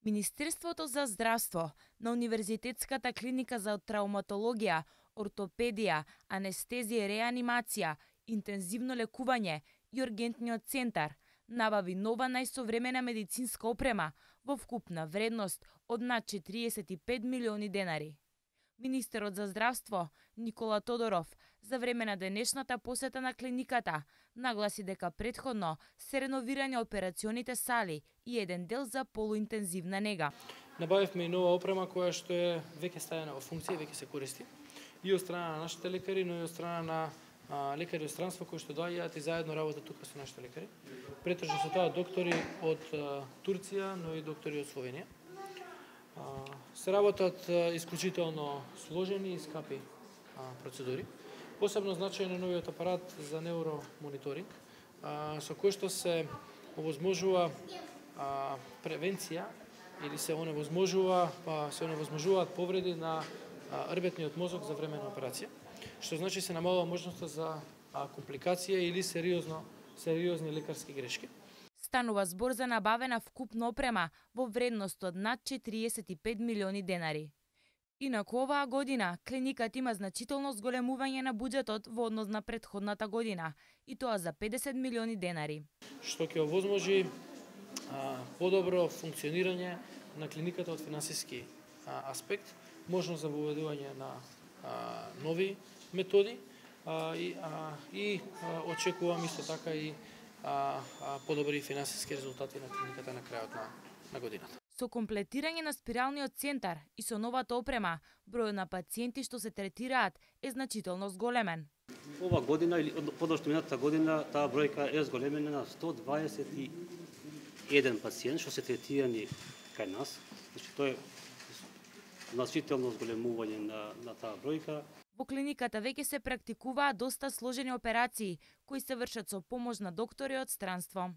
Министерството за здравство на Универзитетската клиника за травматологија, ортопедија, анестезија и реанимација, интензивно лекување и ургентниот центар набави нова најсовремена медицинска опрема во вкупна вредност од над 45 милиони денари. Министерот за здравство Никола Тодоров за време на денешната посета на клиниката нагласи дека претходно се реновирани операционите сали и еден дел за полуинтензивна нега. Набавивме и нова опрема која што е веќе ставена во функција, веќе се користи и од страна на нашите лекари, но и од страна на лекари од странство кои што доаѓаат и заедно работат тука со нашите лекари. Претежно се тоа доктори од Турција, но и доктори од Словенија. Се работат исклучително сложени и скапи процедури. Посебно значаен е новиот апарат за невромониторинг, со кој што се овозможува превенција или се оневозможуваат повреди на рбетниот мозок за време на операција, што значи се намалува можноста за компликација или сериозни лекарски грешки. Станува збор за набавена вкупна опрема во вредност од над 45 милиони денари. Инаку оваа година клиниката има значително зголемување на буџетот во однос на претходната година, и тоа за 50 милиони денари. Што ќе овозможи подобро функционирање на клиниката од финансиски аспект, можност за воведување на нови методи и очекувам исто така и подобри финансиски резултати на клиниката на крајот на годината. Со комплетирање на спиралниот центар и со новата опрема, бројот на пациенти што се третираат е значително зголемен. Ова година или подошто минатата година таа бројка е зголемена на 121 пациент што се третирани кај нас. Значи тоа е значително зголемување на таа бројка. Во клиниката веќе се практикуваат доста сложени операции кои се вршат со помош на доктори од странство.